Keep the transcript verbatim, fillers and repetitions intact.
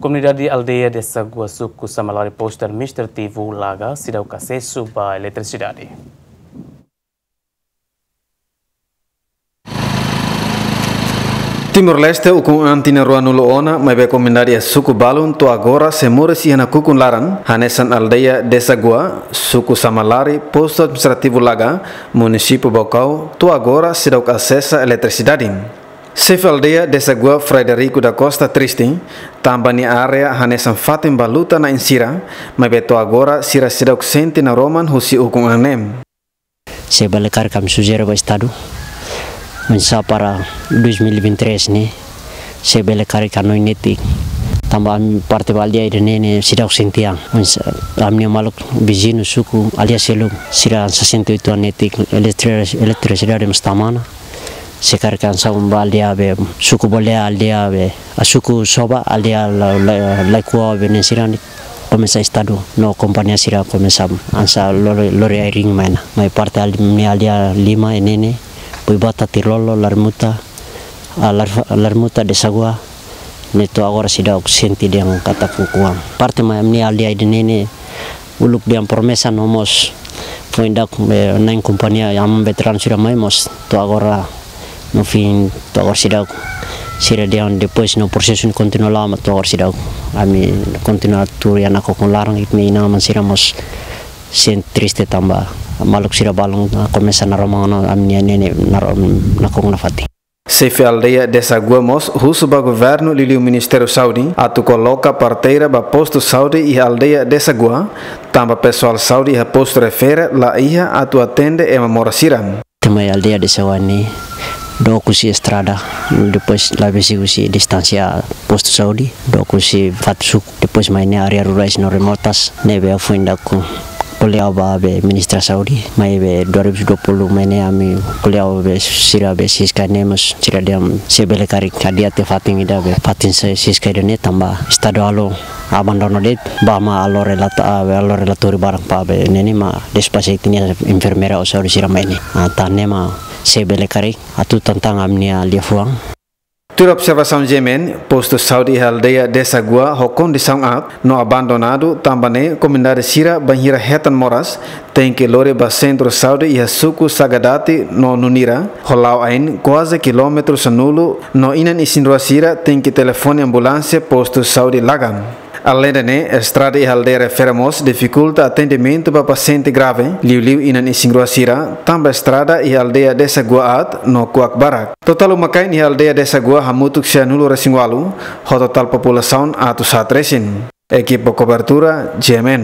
Komunidade aldeia Desa Gua, suku Samalari, postu administrativu Laga, seidauk asesu ba eletrisidade. Timor-Leste, ukun an tinan ruanulu ona, maibé komunidade iha suku balun to'o agora sei moris iha nakukun laran, hanesan aldeia Desa Gua, suku Samalari, postu administrativu Laga, munisípiu Baucau, to'o agora seidauk asesa eletrisidade. Xefe aldeia Desa Gua, Frederico da Costa, triste tanba nia área hanesan fatin ba luta-na'in sira, maibé to'o agora sira seidauk sente naroman husi ukun an ne'e. Se bele karik ami sujere ba Estadu, oinsá para dois mil e vinte e três ne'e, se bele karik hanoin netik. Tanba ami parte ba aldeia ida-ne'e ne'e seidauk sente an. Oinsá ami-nia maluk viziñu suku aldeia seluk, sira hanesan sessenta e oito an netik, eletri-, eletrisidade mós tama ona. Se karik hanesan ba aldeia be, suku Bolea aldeia be, a suku Soba aldeia la, la, Laikua be ne'e sira ne'e komesa Estadu no kompañia sira komesa hanesan lori, lori ai-riin mai ona. Mai parte al-, ami-nia aldeia lima ne'e ne'e, Buibata, Tirlolo, Larmuta, a, Lar-, Larmuta, Desa Gua, ne'e to'o agora seidauk sente dehan katak ukun an. Parte mai ami-nia aldeia ida-ne'e ne'e, uluk dehan promesa no mós foin dak, eh, na'in kompañia, ami veteranu sira mai mós to'o agora, no fim, to'o agora seidauk. Sira dehan depois no prosesu ne'e kontinua lama, to'o agora seidauk. Ami kontinua tuur iha nakukun laran, ita-nia inan-aman sira mós sente triste tanba maluk sira balun, ah, komesa naroman ona ami-nia ne'e ne'e naro-, nakukun nafatin. Xefe aldeia Desa Gua mós husu ba governu liuliu Ministériu Saúde atu koloka parteira ba postu saúde iha aldeia Desa Gua, tanba pesoál saúde iha postu refere la iha atu atende ema moras sira. Tanba iha aldeia Desa Gua ne'e dook husi estrada, depois la besik husi distánsia postu saúde, dook husi fatin suku, depois mai ne'e área rurais no remotas, ne'ebé foin dak ko'alia ba be Ministra Saúde, maibé dua ribu dua puluh mai ne'e ami ko'alia be sira be Siska ne'e mós sira dehan se bele karik adia tiha fatin ida be fatin se Siska ida-ne'e tanba Estadu halo abandona de'it, ba mak halo relata, ah, be halo relatóriu barak ba be ne'e ne'e mak despaxa ita-nia enfermeira ou saúde sira mai ne'e. Ah, tan ne'e mak se bele karik atu tantang ami-nia liafuan. Tuir observasaun G M N, postu saúde iha aldeia Desa Gua ho kondisaun aat no abandonadu, tanba ne'e komunidade sira bainhira hetan moras tenke lori ba sentru saúde iha suku Sagadati no Nunira, ho la'o-ain kuaze kilómetru sanulu, no inan-isin rua sira tenke telefone ambulánsia postu saúde Laga. Aleinde ne'e, estrada iha aldeia refere mós difikulta atendimentu ba pasiente grave, liuliu inan-isin rua sira, tanba estrada iha aldeia Desa Gua aat no kuak barak. Totál uma-kain iha aldeia Desa Gua hamutuk sianulu-resin-ualu, ho totál populasaun atus haat resin. Ekipa kobertura, G M N.